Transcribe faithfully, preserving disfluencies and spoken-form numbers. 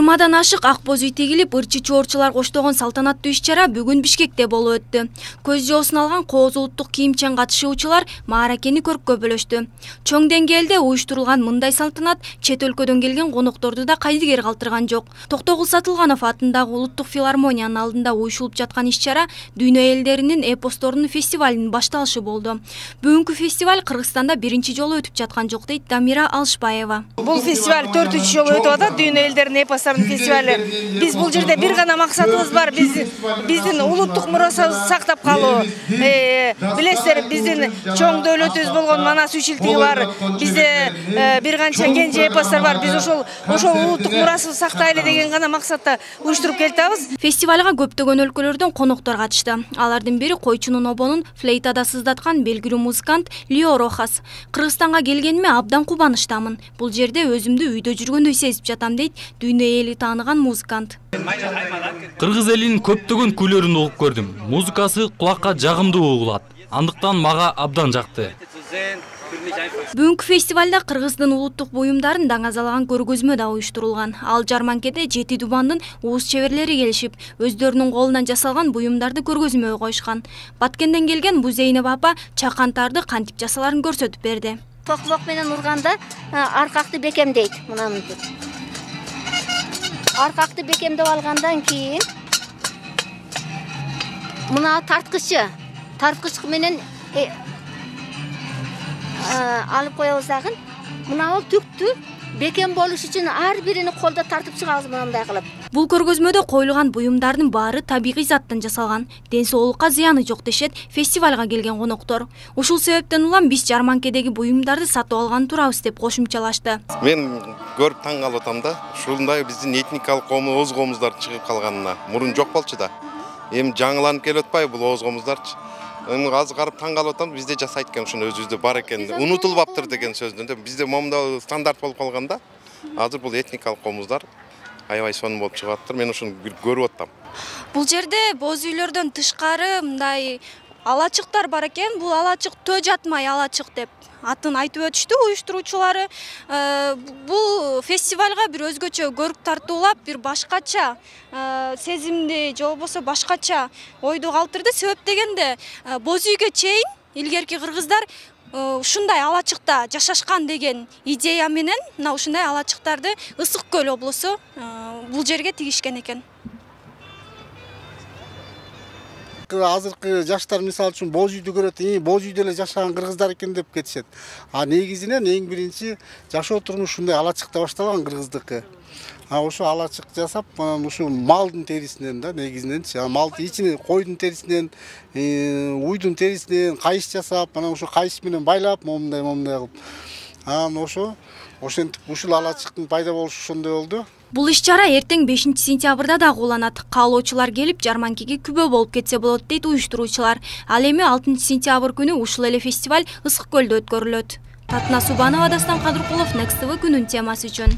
жыйырмадан ашык ак боз үй тегилип, ырчы чоорчулар коштогон салтанаттуу иш-чара бүгүн Бишкекте болуп өттү. Көз жоосун алган кооз улуттук кийимчен катышуучулар мааракени көрүп бөлөштү. Чоң деңгээлде уюштурулган мындай салтанат чет өлкөдөн келген конокторду да кайдыгер калтырган жок. Токтогул Сатылганов атындагы улуттук филармониянын алдында уюшулуп жаткан иш-чара дүйнө элдеринин эпосторунун фестивалынын башталышы болду. Бүгүнкү фестиваль Кыргызстанда биринчи жолу өтүп жаткан жок дейт Дамира Алышбаева. Бул фестиваль төртүнчү жолу өтүп атат, дүйнө элдеринин эпосторунун фестивали. Биз бул жерде бир гана максатыбыз бар, биз биздин улуттук мурасыбызды сактап калуу. Билесиздер, биздин чоң дөөлөтүбүз болгон Манас үч илтиги бар. Бизде бир канча кенже эпостор бар. Биз ошол ошол улуттук мурасыбызды сактайлы деген гана максатта уюштуруп келатабыз. Фестивалга көптөгөн өлкөлөрдөн коноктор катышты. Алардын бири койчунун обонун флейтада сыздаткан белгилүү музыкант Лио Рохас. Кыргызстанга келгениме абдан кубанычтамын. Бул жерде өзүмдү үйдө жүргөндөй сезип жатам дейт дүйнө эли тааныган музыкант. Кыргыз элинин көптөгөн күйлөрүн угуп көрдүм. Музыкасы кулакка жагымдуу угулат. Андыктан мага абдан жакты. Бүгүнкү фестивалда Кыргыздын улуттук буюмдарын даңазалаган көргөзмө да уюштурулган. Ал жарманкеде жети дубандын ууз чеберлери келишип, өздөрүнүн колунан жасалган буюмдарды көргөзмөгө коюшкан. Баткенден келген Бузейнеп апа чакантарды кантип жасаларын көрсөтүп берди. Токмок менен урганда аркакты бекемдейт. Мынантип. Аркакты бекемдеп алгандан кийин мына тарткычы, тарткыч менен алып коебуз дагы. Мына ал түктү бекем болуш үчүн ар бирини колдо тартып чыгабыз мындай кылып. Бул көргөзмөдө коюлган буюмдардын баары табигый заттан жасалган. Ден соолукка зыяны жок дешет фестивалга келген коноктор. Ушул себептен улам биз жарманкедеги буюмдарды сатып алган турабыз деп кошумчалашты. Мен көрүп таң калып атам да, ушундай биздин этникалык коомдун оз коомуздар чыгып калганына. Мурун жок болчу да. Эми жаңыланып келип атпайбы бул оз коомуздарчы? Эми азыр карап таң калып атам, бизде жасайт экен, ушуну өзүбүздө бар экен. Унутулбаптыр деген сөздөн. Бизде момундай стандарт болуп калганда, азыр бул этникалык коомуздар аябай сонун болуп чыгып атыптыр. Мен ушуну көрүп атам. Бул жерде боз үйлөрдөн тышкары мындай алачыктар бар экен. Бул алачык төө жатмай алачык деп атын айтып өтүштү уюштуруучулары. Бул фестивалга бир өзгөчө көрүп тартуулап, бир башкача сезимди же болбосо башкача ойду калтырды. Себеп дегенде боз үйгө чейин илгерки кыргыздар ушундай алачыкта жашашкан деген идея менен мына ушундай алачыктарды Ысык көл облусу бул жерге тигишкен экен. Азыркы жаштар мисалы үчүн боз үйдү көрөт, боз үйдө эле жашаган кыргыздар экен деп кетишет. А негизинен эң биринчи жашоо турмуш ушундай алачыкта башталган кыргыздыкы. А ошо алачык жасап, ушу малдын терисинен да негизиненчи, малдын ичине койдун терисинен, уйдун терисинен кайыш жасап, анан ошо кайыш менен байлап, момундай момундай кылып. Анан ошо ошентип ушул алачыктын пайда болушу ошондой болду. Бул иш-чара эртең бешинчи сентябрда да уланат. Каалоочулар келип жарманкеге күбө болуп кетсе болот дейт уюштуруучулар. Ал эми алтынчы сентябрь күнү ушул эле фестиваль Ысык көлдө өткөрүлөт. Татына Субанова, Дастан Кадыркулов, Next тэ вэ күнүн темасы үчүн.